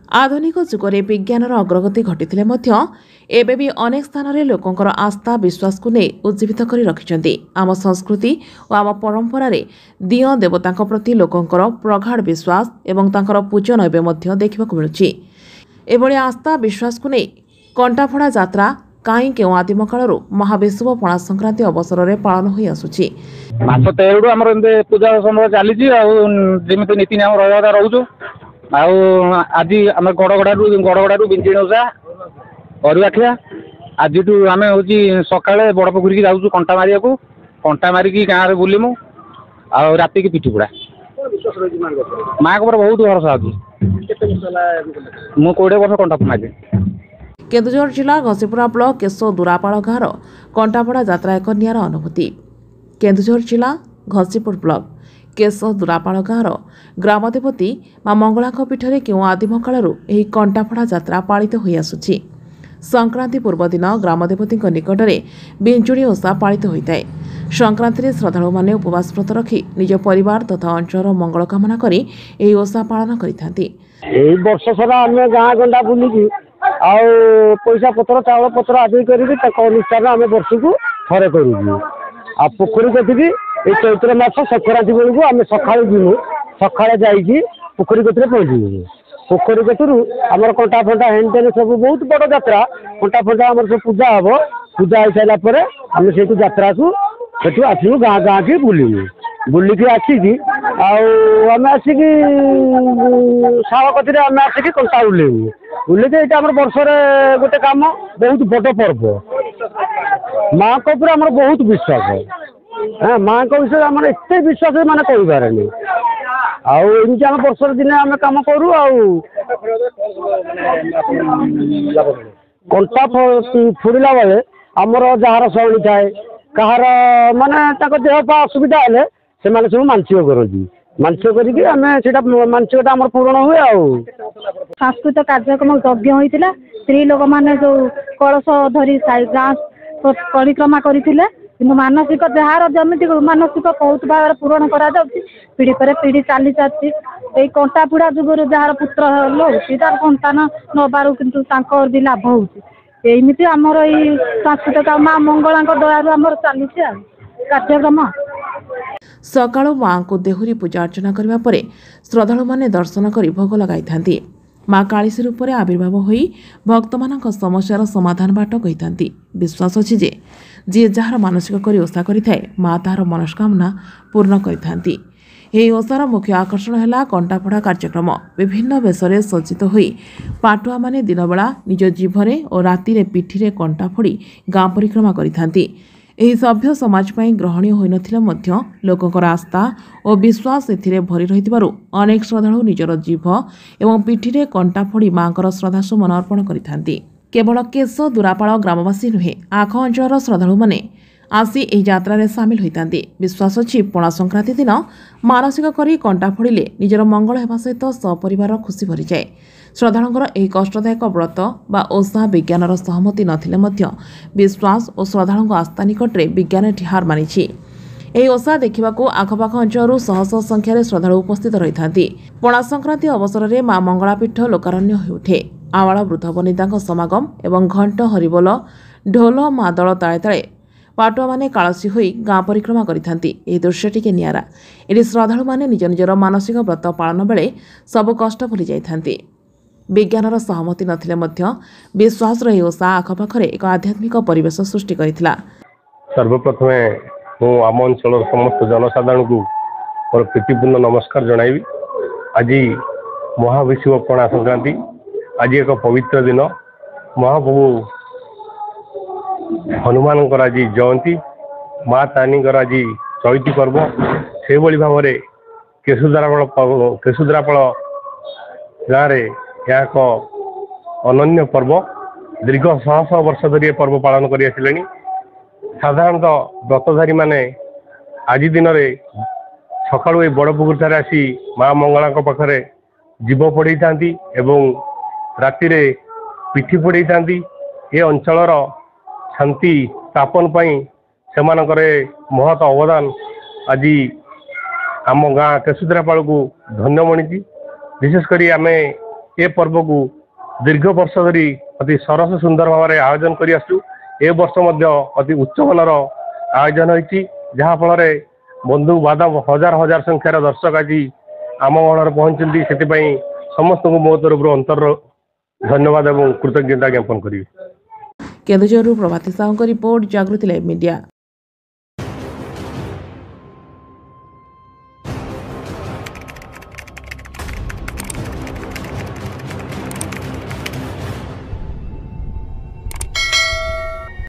ଆଧୁନିକ ଯୁଗରେ ବିଜ୍ଞାନର ଅଗ୍ରଗତି ଘଟିଥିଲେ ମଧ୍ୟ ଏବେ ବି ଅନେକ ସ୍ଥାନରେ ଲୋକଙ୍କର ଆସ୍ଥା ବିଶ୍ୱାସକୁ ନେଇ ଉଜ୍ଜୀବିତ କରି ରଖିଛନ୍ତି। ଆମ ସଂସ୍କୃତି ଓ ଆମ ପରମ୍ପରାରେ ଦିଅଁ ଦେବତାଙ୍କ ପ୍ରତି ଲୋକଙ୍କର ପ୍ରଗାଢ଼ ବିଶ୍ୱାସ ଏବଂ ତାଙ୍କର ପୂଜନ ଏବେ ମଧ୍ୟ ଦେଖିବାକୁ ମିଳୁଛି। ଏଭଳି ଆସ୍ଥା ବିଶ୍ୱାସକୁ ନେଇ କଣ୍ଟାଫଡ଼ା ଯାତ୍ରା କାହିଁ କେଉଁ ଆଦିମ କାଳରୁ ମହାବିଷୁବ ପଣା ସଂକ୍ରାନ୍ତି ଅବସରରେ ପାଳନ ହୋଇ ଆସୁଛି। ମାସ 13ରୁ ଆମର ଏମିତି ପୂଜା ସମୟ ଚାଲିଛି, ଆଉ ଯେମିତି ନୀତି ନିୟମ ରହିବା କଥା ରହୁଛୁ। ଆଉ ଆଜି ଆମେ ଗଡ଼ଗଡ଼ାରୁ ବିଞ୍ଜିଣି ଓଷା ଅରୁଆ ଖିଆ। ଆଜିଠୁ ଆମେ ହେଉଛି ସକାଳେ ବଡ଼ ପୋଖରୀକି ଯାଉଛୁ କଣ୍ଟା ମାରିବାକୁ। କଣ୍ଟା ମାରିକି ଗାଁରେ ବୁଲିମୁ, ଆଉ ରାତିକି ପିଠି ପୋଡ଼ା। ମାଆଙ୍କ ଉପରେ ବହୁତ ଭରସା ଅଛି। ମୁଁ 20 ବର୍ଷ କଣ୍ଟା ମାରିଲି। କେନ୍ଦୁଝର ଜିଲ୍ଲା ଘସିପୁରା ବ୍ଲକ କେଶ ଦୁରାପାଳ ଗାଁର କଣ୍ଟାପଡ଼ା ଯାତ୍ରା ଏକ ନିଆରା ଅନୁଭୂତି। କେନ୍ଦୁଝର ଜିଲ୍ଲା ଘସିପୁର ବ୍ଲକ କେଶ ଦୁରାପାଳ ଗାଁର ଗ୍ରାମଦେବତୀ ମା ମଙ୍ଗଳାଙ୍କ ପୀଠରେ କେଉଁ ଆଦିମ କାଳରୁ ଏହି କଣ୍ଟାଫଡ଼ା ଯାତ୍ରା ପାଳିତ ହୋଇଆସୁଛି। ସଂକ୍ରାନ୍ତି ପୂର୍ବଦିନ ଗ୍ରାମଦେବତୀଙ୍କ ନିକଟରେ ବିଞ୍ଜୁଣି ଓଷା ପାଳିତ ହୋଇଥାଏ। ସଂକ୍ରାନ୍ତିରେ ଶ୍ରଦ୍ଧାଳୁମାନେ ଉପବାସ ବ୍ରତ ରଖି ନିଜ ପରିବାର ତଥା ଅଞ୍ଚଳର ମଙ୍ଗଳ କାମନା କରି ଏହି ଓଷା ପାଳନ କରିଥାନ୍ତି। ଏଇ ବର୍ଷ ସାରା ଆମେ ଗାଁ ଗଣ୍ଡା ବୁଲିକି ଆଉ ପଇସା ପତ୍ର ଚାଉଳ ପତ୍ର ଆଦାୟ କରିକି ତାଙ୍କ ଅନୁଷ୍ଠାନ ଆମେ ବର୍ଷକୁ ଥରେ କରୁଛୁ। ଆଉ ପୋଖରୀ କତିକି ଏଇ ଚୈତ୍ର ମାସ ସଂକ୍ରାନ୍ତି ବେଳକୁ ଆମେ ସକାଳୁ ଯିବୁ। ସକାଳେ ଯାଇକି ପୋଖରୀ କତିରେ ପହଞ୍ଚିଯିବୁ। ପୋଖରୀ କତିରୁ ଆମର କଣ୍ଟା ଫଣ୍ଟା ହେନ୍ ଟେନ୍ ସବୁ ବହୁତ ବଡ଼ ଯାତ୍ରା। କଣ୍ଟା ଫଣ୍ଟା ଆମର ସବୁ ପୂଜା ହେବ। ପୂଜା ହେଇସାରିଲା ପରେ ଆମେ ସେଇଠୁ ଯାତ୍ରାକୁ ସେଠୁ ଆସିବୁ, ଗାଁ ଗାଁକି ବୁଲିବୁ। ବୁଲିକି ଆସିକି ଆଉ ଆମେ ଆସିକି ଶାଳ କତିରେ ଆମେ ଆସିକି କଣ୍ଟା ଓହ୍ଲେଇବୁ। ଓହ୍ଲେଇକି ଏଇଟା ଆମର ବର୍ଷରେ ଗୋଟେ କାମ, ବହୁତ ବଡ଼ ପର୍ବ। ମାଆଙ୍କ ଉପରେ ଆମର ବହୁତ ବିଶ୍ୱାସ। ହଁ, ମାଆଙ୍କ ବିଷୟରେ ଆମର ଏତେ ବିଶ୍ୱାସ ମାନେ କହିପାରେନି। ଆଉ ଏମିତି ଆମେ ବର୍ଷରେ ଦିନେ ଆମେ କାମ କରୁ। ଆଉ କଣ୍ଟା ଫୋଡ଼ିଲା ବେଳେ ଆମର ଯାହାର ଶରଣୀ ଥାଏ, କାହାର ମାନେ ତାଙ୍କ ଦେହ ପା ଅସୁବିଧା ହେଲେ ସେମାନେ ସବୁ ମାନସିକ କରନ୍ତି। ମାନସିକ କରିକି ଆମେ ସେଇଟା ମାନସିକଟା ଆମର ପୂରଣ ହୁଏ। ଆଉ ସାଂସ୍କୃତିକ କାର୍ଯ୍ୟକ୍ରମ ଯଜ୍ଞ ହୋଇଥିଲା। ସ୍ତ୍ରୀ ଲୋକମାନେ ଯେଉଁ କଳସ ଧରି ଗାଁ ପରିକ୍ରମା କରିଥିଲେ। କିନ୍ତୁ ମାନସିକ ଯାହାର ଯେମିତି ମାନସିକ ବହୁତ ଭାବରେ ପୂରଣ କରାଯାଉଛି, ପିଢ଼ି ପରେ ପିଢ଼ି ଚାଲି ଚାଲିଛି। ଏଇ କଣ୍ଟା ଫୁଡ଼ା ଯୁଗରୁ ଯାହାର ପୁତ୍ର ହେଉଛି, ତାର ସନ୍ତାନ ନେବାରୁ କିନ୍ତୁ ତାଙ୍କର ବି ଲାଭ ହେଉଛି। ଏମିତି ଆମର ଏଇ ସାଂସ୍କୃତିକ ମା ମଙ୍ଗଳାଙ୍କ ଦୟାରୁ ଆମର ଚାଲିଛି ଆଉ କାର୍ଯ୍ୟକ୍ରମ। ସକାଳୁ ମାଆଙ୍କୁ ଦେହୁରୀ ପୂଜା ଅର୍ଚ୍ଚନା କରିବା ପରେ ଶ୍ରଦ୍ଧାଳୁମାନେ ଦର୍ଶନ କରି ଭୋଗ ଲଗାଇଥାନ୍ତି। ମା କାଳିସୀ ରୂପରେ ଆବିର୍ଭାବ ହୋଇ ଭକ୍ତମାନଙ୍କ ସମସ୍ୟାର ସମାଧାନ ବାଟ କହିଥାନ୍ତି। ବିଶ୍ୱାସ ଅଛି ଯେ ଯିଏ ଯାହାର ମାନସିକ କରି ଓଷା କରିଥାଏ, ମା ତାହାର ମନସ୍କାମନା ପୂର୍ଣ୍ଣ କରିଥାନ୍ତି। ଏହି ଓଷାର ମୁଖ୍ୟ ଆକର୍ଷଣ ହେଲା କଣ୍ଟାଫଡ଼ା କାର୍ଯ୍ୟକ୍ରମ। ବିଭିନ୍ନ ବେଶରେ ସଜ୍ଜିତ ହୋଇ ପାଟୁଆମାନେ ଦିନବେଳା ନିଜ ଜିଭରେ ଓ ରାତିରେ ପିଠିରେ କଣ୍ଟା ଫୋଡ଼ି ଗାଁ ପରିକ୍ରମା କରିଥାନ୍ତି। ଏହି ସଭ୍ୟ ସମାଜ ପାଇଁ ଗ୍ରହଣୀୟ ହୋଇନଥିଲେ ମଧ୍ୟ ଲୋକଙ୍କର ଆସ୍ଥା ଓ ବିଶ୍ୱାସ ଏଥିରେ ଭରି ରହିଥିବାରୁ ଅନେକ ଶ୍ରଦ୍ଧାଳୁ ନିଜର ଜିଭ ଏବଂ ପିଠିରେ କଣ୍ଟା ଫୋଡ଼ି ମାଆଙ୍କର ଶ୍ରଦ୍ଧାସୁମନ ଅର୍ପଣ କରିଥାନ୍ତି। କେବଳ କେଶ ଦୁରାପାଳ ଗ୍ରାମବାସୀ ନୁହେଁ, ଆଖ ଅଞ୍ଚଳର ଶ୍ରଦ୍ଧାଳୁମାନେ ଆସି ଏହି ଯାତ୍ରାରେ ସାମିଲ ହୋଇଥାନ୍ତି। ବିଶ୍ୱାସ ଅଛି ପଣା ସଂକ୍ରାନ୍ତି ଦିନ ମାନସିକ କରି କଣ୍ଟା ଫୋଡ଼ିଲେ ନିଜର ମଙ୍ଗଳ ହେବା ସହିତ ସପରିବାର ଖୁସି ଭରିଯାଏ। ଶ୍ରଦ୍ଧାଳୁଙ୍କର ଏହି କଷ୍ଟଦାୟକ ବ୍ରତ ବା ଓଷା ବିଜ୍ଞାନର ସହମତି ନଥିଲେ ମଧ୍ୟ ବିଶ୍ୱାସ ଓ ଶ୍ରଦ୍ଧାଳୁଙ୍କ ଆସ୍ଥା ନିକଟରେ ବିଜ୍ଞାନ ଏଠି ହାର ମାନିଛି। ଏହି ଓଷା ଦେଖିବାକୁ ଆଖପାଖ ଅଞ୍ଚଳରୁ ଶହ ଶହ ସଂଖ୍ୟାରେ ଶ୍ରଦ୍ଧାଳୁ ଉପସ୍ଥିତ ରହିଥାନ୍ତି। ପଣା ସଂକ୍ରାନ୍ତି ଅବସରରେ ମା ମଙ୍ଗଳାପୀଠ ଲୋକାରଣ୍ୟ ହୋଇଉଠେ। ଆବାଳ ବୃଦ୍ଧ ବନିତାଙ୍କ ସମାଗମ ଏବଂ ଘଣ୍ଟ, ହରିବୋଲ, ଢୋଲ ମାଦଳ ତାଳେ ତାଳେ ପାଟୁଆମାନେ କାଳସୀ ହୋଇ ଗାଁ ପରିକ୍ରମା କରିଥାନ୍ତି। ଏହି ଦୃଶ୍ୟ ଟିକେ ନିଆରା। ଏଠି ଶ୍ରଦ୍ଧାଳୁମାନେ ନିଜ ନିଜର ମାନସିକ ବ୍ରତ ପାଳନ ବେଳେ ସବୁ କଷ୍ଟ ଭୁଲି ଯାଇଥାନ୍ତି। ବିଜ୍ଞାନର ସହମତି ନଥିଲେ ମଧ୍ୟ ବିଶ୍ୱାସର ଏହି ଓଷା ଆଖପାଖରେ ଏକ ଆଧ୍ୟାତ୍ମିକ ପରିବେଶ ସୃଷ୍ଟି କରିଥିଲା। ସର୍ବପ୍ରଥମେ ମୁଁ ଆମ ଅଞ୍ଚଳର ସମସ୍ତ ଜନସାଧାରଣଙ୍କୁ ମୋର ପ୍ରୀତିପୂର୍ଣ୍ଣ ନମସ୍କାର ଜଣାଇବି। ଆଜି ମହାବିଷୁବ ପଣା ସଂକ୍ରାନ୍ତି, ଆଜି ଏକ ପବିତ୍ର ଦିନ। ମହାପ୍ରଭୁ ହନୁମାନଙ୍କର ଆଜି ଜୟନ୍ତୀ, ମା ତାରିଣୀଙ୍କର ଆଜି ଚଇତି ପର୍ବ। ସେହିଭଳି ଭାବରେ କେଶୁଦ୍ରାପାଳ ଗାଁରେ ଏହା ଏକ ଅନନ୍ୟ ପର୍ବ। ଦୀର୍ଘ ଶହ ଶହ ବର୍ଷ ଧରି ଏ ପର୍ବ ପାଳନ କରି ଆସିଲେଣି। ସାଧାରଣତଃ ବ୍ରତଧାରୀମାନେ ଆଜି ଦିନରେ ସକାଳୁ ଏ ବଡ଼ ପୋଖରୀଠାରେ ଆସି ମା ମଙ୍ଗଳାଙ୍କ ପାଖରେ ଜୀବ ଫୋଡ଼େଇଥାନ୍ତି ଏବଂ ରାତିରେ ପିଠି ଫୋଡ଼େଇଥାନ୍ତି। ଏ ଅଞ୍ଚଳର ଶାନ୍ତି ସ୍ଥାପନ ପାଇଁ ସେମାନଙ୍କର ଏ ମହତ ଅବଦାନ ଆଜି ଆମ ଗାଁ କେଶୁଦ୍ରାପାଳକୁ ଧନ୍ୟ ମଣିଛି। ବିଶେଷ କରି ଆମେ ଏ ପର୍ବକୁ ଦୀର୍ଘ ବର୍ଷ ଧରି ଅତି ସରସ ସୁନ୍ଦର ଭାବରେ ଆୟୋଜନ କରି ଆସୁଛୁ। ଏ ବର୍ଷ ମଧ୍ୟ ଅତି ଉଚ୍ଚମାନର ଆୟୋଜନ ହୋଇଛି, ଯାହାଫଳରେ ବନ୍ଧୁ ବାନ୍ଧବ ହଜାର ହଜାର ସଂଖ୍ୟାର ଦର୍ଶକ ଆଜି ଆମ ଗହଣରେ ପହଞ୍ଚିଛନ୍ତି। ସେଥିପାଇଁ ସମସ୍ତଙ୍କୁ ମୋ ତରଫରୁ ଅନ୍ତରର ଧନ୍ୟବାଦ ଏବଂ କୃତଜ୍ଞତା ଜ୍ଞାପନ କରିବି। କେନ୍ଦୁଝରରୁ ପ୍ରଭାତୀ ସାହୁଙ୍କ ରିପୋର୍ଟ, ଜାଗୃତି ଲାଇଭ୍ ମିଡିଆ।